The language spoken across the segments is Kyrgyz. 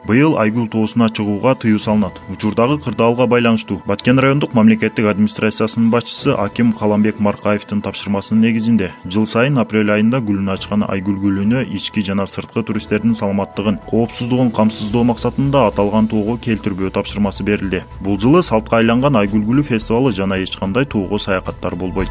Быйыл Айгүл тоосуна чыгууга тыюу салынат. Учурдагы кырдаалга байланыштуу Баткен райондук мамлекеттик администрациясынын башчысы Аким Каламбек Маркаевдин тапшырмасынын негизинде жыл сайын апрель айында гүлүн ачкан Айгүл гүлүнө ички жана сырткы туристтердин саламаттыгын, коопсуздугун камсыздоо максатында аталган тоого келтирбөө тапшырмасы берилди. Бул жылы салтка айланган Айгүл гүлү фестивалы жана эч кандай тоого саякаттар болбойт.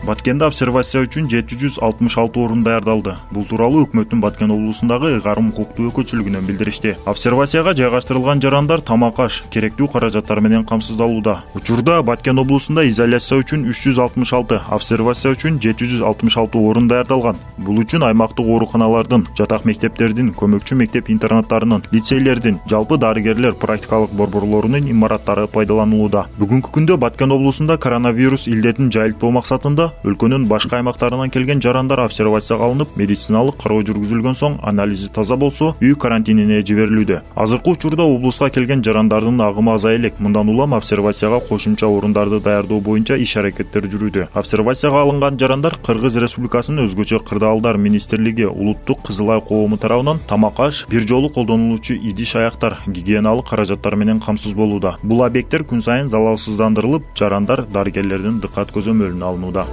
Баткенде обсервация үчүн 766 орун даярдалды. Бул тууралуу өкмөттүн Баткен облусундагы ыйгарым укуктуу өкүлчүлүгүнөн билдиришти. Обсервацияга жайгаштырылган жарандар тамак аш, керектүү каражаттар менен камсыздалууда. Учурда Баткен облусунда изоляция үчүн 366, обсервация үчүн 766 орун даярдалган. Бул үчүн аймактык ооруканалардын, жатак мектептердин, көмөкчү мектеп интернаттарынын, лицейлердин, жалпы дарыгерлер практикалык борборлорунун имараттары пайдаланылууда. Бүгүнкү күндө Баткен облусунда коронавирус илдетин жайылтпоо максатында өлкөнүн башка аймактарынан келген жарандар обсервацияга алынып, медициналык кароо жүргүзүлгөн соң анализи таза болсо, үй карантинине жиберилүүдө. Азыркы учурда облуска келген жарандардын агымы азая элек. Мындан улам обсервацияга кошумча орундарды даярдоо боюнча иш-аракеттер жүрүүдө. Обсервацияга алынган жарандар Кыргыз Республикасынын өзгөчө кырдаалдар министрлиги Улуттук Кызыл Ай коому тарабынан тамак аш, бир жолу колдонулуучу идиш-аяктар, гигиеналык каражаттар менен камсыз болууда. Бул объекттер күн сайын залалсыздандырылып, жарандар дарыгерлердин дыккат көзөмөлүнө алынууда.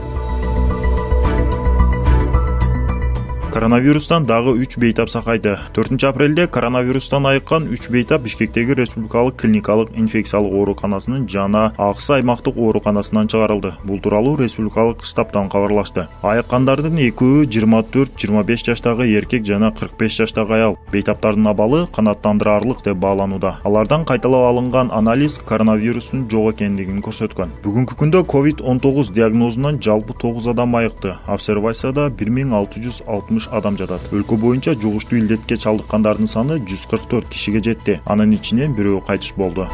Коронавирустан дагы 3 бейтап сакайды. 4 апрелде коронавирустан айыккан 3 бейтап Бишкектеги Республикалык клиникалык инфекциялык ооруканасынын жана Аксы аймактык ооруканасынан чыгарылды. Бул тууралуу республикалык штабтан кабарлашты. Айыккандардын экөө 24-25 жаштагы эркек жана 45 жаштагы аял. Бейтаптардын абалы канааттандырарлык деп бааланууда. Алардан кайталап алынган анализ коронавирустун жок экендигин көрсөткөн. Бүгүнкү күндө COVID-19 диагнозунан жалпы 9 адам айыкты. Обсервацияда 1660 адам жатат. Өлкө боюнча жугуштуу илдетке чалдыккандардын саны 144 кишиге жетти. Анын ичинен бирөө кайтыш болду.